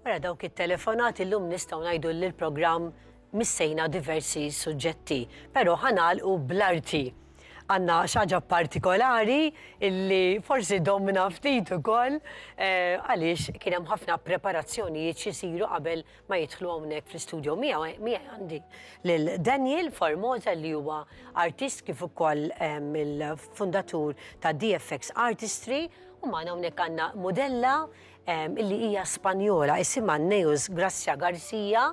Wara dawk it-telefonati llum nistgħu ngħidu li l-programm missejna diversi suġġetti, però ħa nagħlqu bl-arti. Għandna xi ħaġa partikolari illi forsi domna ftit ukoll eh, għaliex kien hemm ħafna preparazzjonijiet x'isiru qabel ma jidħlu hawnhekk fl-istudio miegħi miegħi għandi lil Daniel Formosa li huwa artist kif ukoll eh, mill-fundatur ta' DFX Artistry u magħna hawnhekk għandna modella illi hija Spanjola, isimha Neus Gracia Garcia,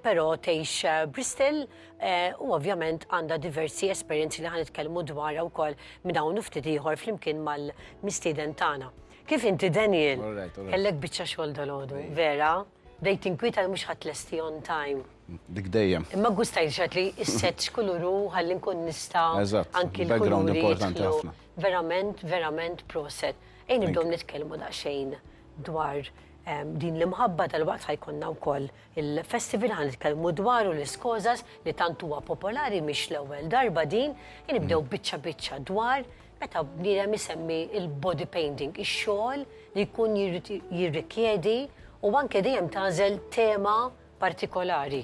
però tgħix eh, Bristol eh, u ovvjament għandha diversi esperjenzi li ħa nitkellmu dwarha wkoll minn hawn ftit ieħor flimkien mal-mistieden tagħna. Kif inti Daniel? Kellek biċċa xogħol dalgħodu, vera? Bdejt tinkwieta li mhux ħa tlesti on time. Dik dejjem. Imma gustajt xat li s-set x'kuluru ħalli nkun nista' anki l-background importanti ħafna. Verament, verament proset. Ejja nibdew nitkellmu daqsxejn dwar din l-imħabba dalwaqt ħa jkollna wkoll il-festival ħa nitkellmu dwaru l-iskożas li tant huwa popolari mhix l-ewwel darba din, ejja nibdew biċċa biċċa dwar meta bniedem isemmi l-body painting, ix-xogħol li jkun jirrikjedi u anke dejjem tagħżel tema partikolari.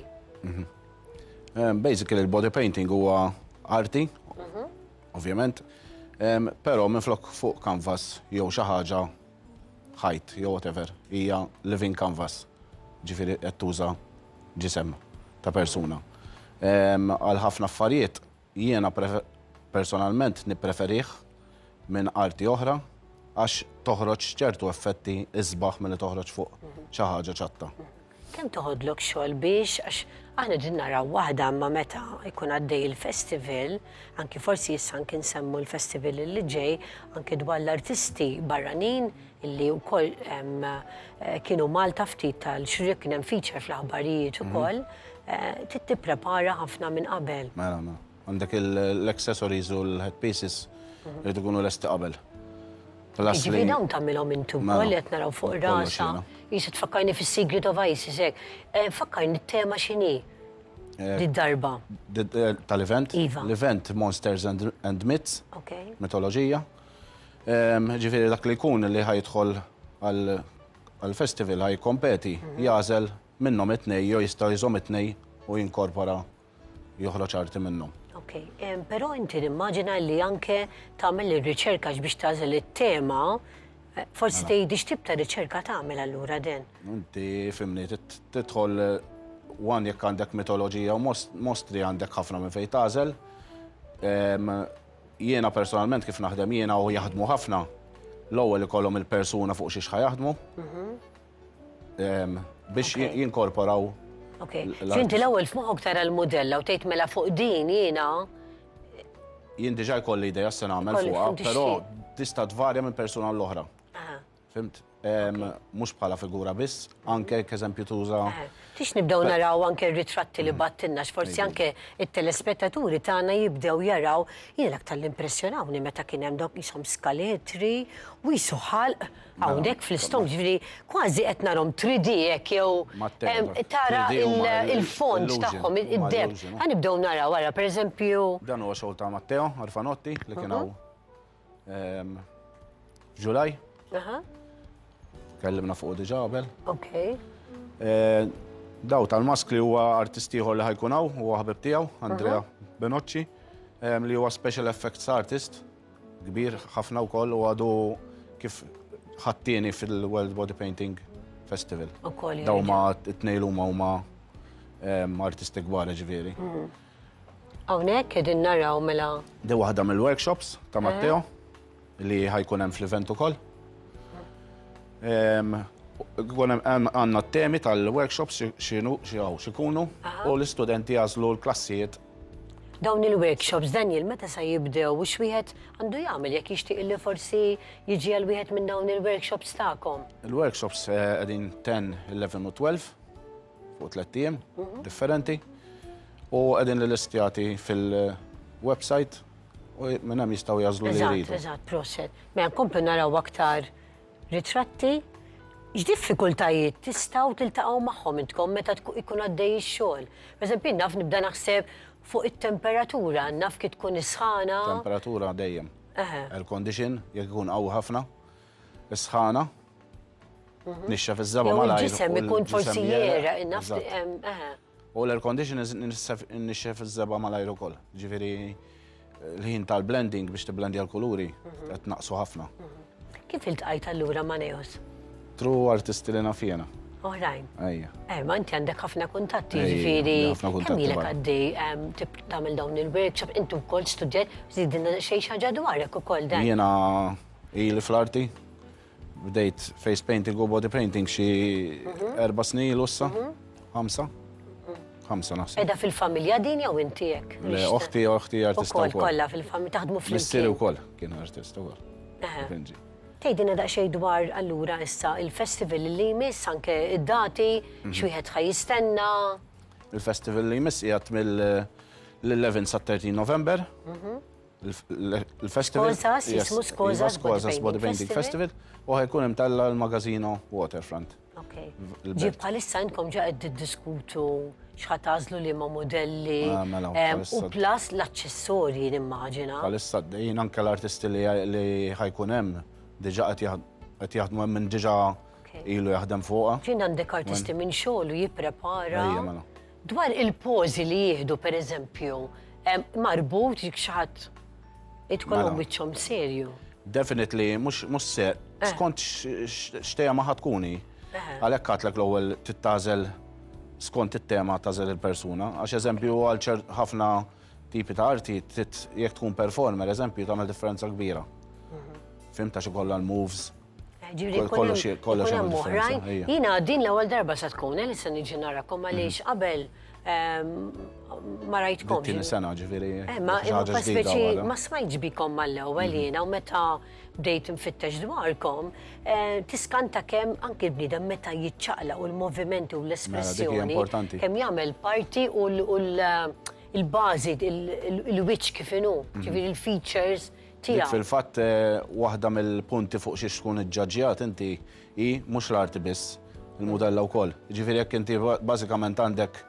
Basically il-body painting huwa arti, ovvjament, però minflok fuq canvas jew xi ħaġa ħajt jew whatever, hija living canvas. Ġifieri qed tuża ġisem ta' persuna. Għal ħafna affarijiet jiena personalment nippreferih minn arti oħra għax toħroġ ċertu effetti isbaħ milli toħroġ fuq xi ħaġa ċatta. Kemm toħodlok xogħol biex, għax aħna qegħdin naraw waħda imma meta jkun għaddej il-festival, anki forsi issa anki nsemmu l-festival li ġej, anki dwar l-artisti barranin illi wkoll kienu Malta ftit tal-xhur kien hemm feature fl-aħbarijiet ukoll, trid tipprepara ħafna minn qabel. Mela, mela. Għandek l-accessories u l-headpieces jridu jkunu lesti qabel. Ġifieri dawn tagħmilhom inti wkoll li qed naraw fuq rasha. Jisa tfakkarni fis-Secret of Isis hekk. Eh, fakkarni t-tema x'inhi. Eh, Did-darba. Eh, tal-event? Iva. L-event Monsters and, and Myths. Okay. Mitoloġija. Ehm, ġifieri dak li jkun li ħajidħol għal-festival ħajkompeti, mhm. jażel minnhom it-tnej jew jista' jżomm it-tnej u jinkorpora joħroġ arti minnhom. Ok, però inti nimmaġina li anke tagħmel ir-riċerka biex tagħżel it-tema, eh, forsi mela. tgħidi x'tip ta' riċerka tagħmel allura den. Inti fimni tidħol eh, one jekk għandek mitoloġija u mostri għandek ħafna minn fejn tagħżel. Jiena personalment kif naħdem jiena u jaħdmu ħafna, l-ewwel ikollhom il-persuna fuq xiex ħajaħdmu. Mhm. Biex jinkorporaw. Ok, inti l-ewwel f'moħħok tara l-mudella u tgħid mela fuq din jiena. Jien diġà jkolli idea se nagħmel fuqha, però tista' tvarja minn persuna l-oħra. Fimt? Mhux bħala figura biss, anke eżempju tuża. Tix nibdew naraw anke r-ritratti li battilna, forsi anke it-telespettaturi tagħna jibdew jaraw, jien l-aktar li impressjonawni meta kien hemm dawk qishom skaletri u qisu ħalq Hawnhekk fl-istonk, ġifieri kważi qed narhom 3D hekk jew tara il-fond tagħhom, id-depth. Ħa nibdew naraw ara pereżempju. Dan huwa xogħol ta' Matteo Arfanotti li kien hawn f'Ġulaj. Kellimna fuq diġà qabel. Ok. Daw tal-maskli huwa artist ieħor li ħajkun hawn, huwa ħabib tiegħu, Andrea Benocci, li huwa special effects artist. Kbir ħafna wkoll u għadu kif ħadd fil-World Body Painting Festival. Ukoll Daw ma t-tnejn huma huma artisti kbar ġifieri. Mhm. Hawnhekk qegħdin naraw mela. Di waħda mill-workshops ta' eh. Matteo li ħajkun hemm fl-event ukoll. Għandna t-temi tal-workshops x'inhu x'ikunu u l-istudenti jagħżlu l-klassijiet Dawn il-workshops, Daniel, meta sa jibdew u x'wieħed għandu jagħmel jekk jixtieq li forsi jiġi għal wieħed minn dawn il-workshops tagħkom? Il-workshops eh, qegħdin 10, 11 u 12 fuq tlett ijiem mhm. differenti u qegħdin l-listjati fil-website u minn hemm jistgħu jażlu li jridu. Eżatt, proset. Mela nkomplu naraw aktar Ritratti, X'diffikultajiet tistgħu tiltaqgħu magħhom intkom meta jkun għaddej ix-xogħol? Pereżempju, jien naf nibda naħseb fuq it-temperatura, naf kif tkun is-sħana. Temperatura dejjem. Air condition, jekk ikun qawwi ħafna. Is-sħana. Nixxef iż-żebgħa malajr. Il-ġisem ikun forsi jera, naf. U l-air condition nixxef iż-żebgħa malajr ukoll. Ġifieri l-ħin tal-blending biex tiblendja l-kuluri qed naqsu ħafna. Kif iltqajt allura ma' Neos? Tru artisti li naf jiena. Oħrajn. Ejja. Eh, ma inti għandek ħafna kuntatti, ġifieri. Kemm ilek għaddej tagħmel dawn il-workshop, inti wkoll studjajt, żidilna xejn xi ħaġa dwarek ukoll dan. Jiena ili fl-arti, Bdejt face painting u body painting xi mhm. erba' snin ilu issa. Mhm. Ħamsa. Ħamsa naħseb. Edha fil-familja din jew inti hekk? Le, oħti oħti artista wkoll. Kollha fil-familja taħdmu flimkien. Missieri wkoll kien artista wkoll. Tgħidilna daqsxejn dwar allura issa il-festival li jmiss anke id-dati mhm. x'wieħed ħa jistenna. Il-festival li jmiss qiegħed mill-11 sa 13 November. Il-festival. Skozas, jismu Skozas Skozas Body Painting Festival u ħajkun imtella l-Magazino Waterfront. Ok. Ġi bħalissa intkom ġa qed tiddiskutu x'ħa tagħżlu liema modelli ah, mela, u plus l-aċċessorji nimmaġina. Bħalissa jien anke l-artisti li ħajkun hemm diġà qed jaħdmu hemm minn diġà ilu jaħdem fuqha. Ġin għandek artisti minn xogħol u jipprepara. Mela. Dwar il-pożi li jieħdu pereżempju, marbut jekk xi ħadd idkolhom mela. wiċċhom serju. Definitely, mhux se, eh. skont x'tema ħa tkuni. Eh. Għalhekk għatlek l-ewwel tittażel skont it-tema tażel il-persuna. Għax eżempju għal ħafna tipi ta' arti, jekk tkun performer, eżempju, tagħmel differenza kbira. Mhm. Fimta xi kollha l-moves, Ġifieri kollox kollox hemm oħrajn. Jiena din l-ewwel darba se tkun eh, li se niġi narakom għaliex mhm. qabel ehm, ma rajtkom. Tieni sena ġifieri. Eh, ma speċi ma smajtx bikom mal-ewwel mhm. jiena u meta bdejt nfittex dwarkom, eh, tiskanta kemm anki l-bniedem meta jiċċaqla u l-movimenti u mela, l-espressjoni kemm jagħmel parti u l-bażi il-wiċċ kif inhu, mhm. ġifieri l-features Dik fil-fatt waħda mill-punti fuq xiex tkun iġġaġġjat inti hi mhux l-arti biss, il-mudella wkoll. Jiġifieri jekk inti bażikament għandek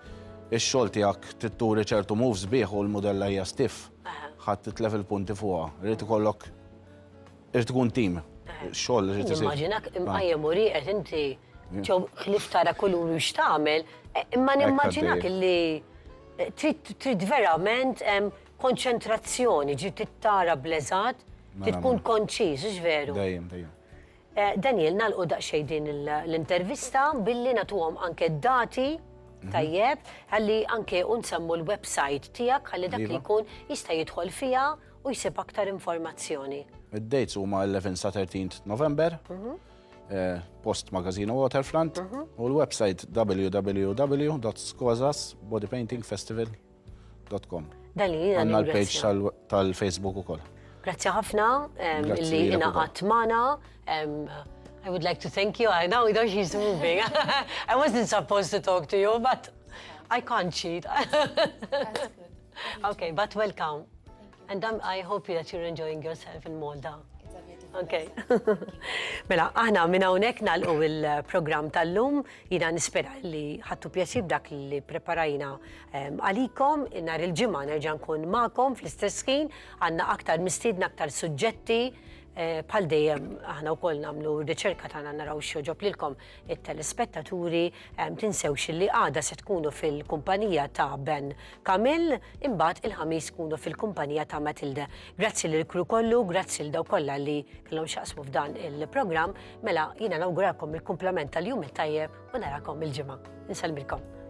ix-xogħol tiegħek trid turi ċertu moves bih u l-mudella hija stiff, ħa titlef il-punti fuqha. Irid ikollok irid ikun team. Ix-xogħol irid isir. Nimmaġinak imqajjem u rieqed inti ġew ħlief tara kulur u x'tagħmel, imma nimmaġinak illi trid verament Konċentrazzjoni, ġifieri trid tara bl-eżatt, trid tkun konċiż, hux veru? Dejjem, dejjem. Daniel, nagħlqu daqsxejn din l-intervista billi nagħtuhom anke d-dati, tajjeb, ħalli anke u nsemmu l-website tiegħek ħalli dak li jkun jista' jidħol fiha u jsib aktar informazzjoni. Id-dates huma 11 sa 13 November, post Magazino Waterfront, u l-website www.skozasbodypaintingfestival.com. Com. Dan li jiena Għandna l-page tal-Facebook ukoll. Grazzi ħafna li ingħaqadt magħna. I would like to thank you. I know though she's moving. I wasn't supposed to talk to you, but I can't cheat. Okay, but welcome. And I hope that you're enjoying yourself in Malta. Okay. Mela, aħna minn hawnhekk nagħlqu il-programm tal-lum. Jiena nispera li ħadtu pjaċir b'dak li preparajna ehm, għalikom. Nhar il-ġimgħa nerġa' nkun magħkom fl-istess ħin. Għandna aktar mistiedna, aktar suġġetti. Eh, bħal dejjem aħna wkoll nagħmlu riċerka tagħna naraw x'joġob lilkom it-telespettaturi, ehm, tinsewx li għada se tkunu fil-kumpanija ta' Ben Kamil, imbagħad il-Ħamis tkunu fil-kumpanija ta' Matilde. Grazzi lil kru kollu, grazzi lil dawk kollha li kellhom x'jaqsmu f'dan il-programm. Mela jiena nawguralkom il-kumplament tal-jum it-tajjeb u narakom il-ġimgħa. Insellmilkom.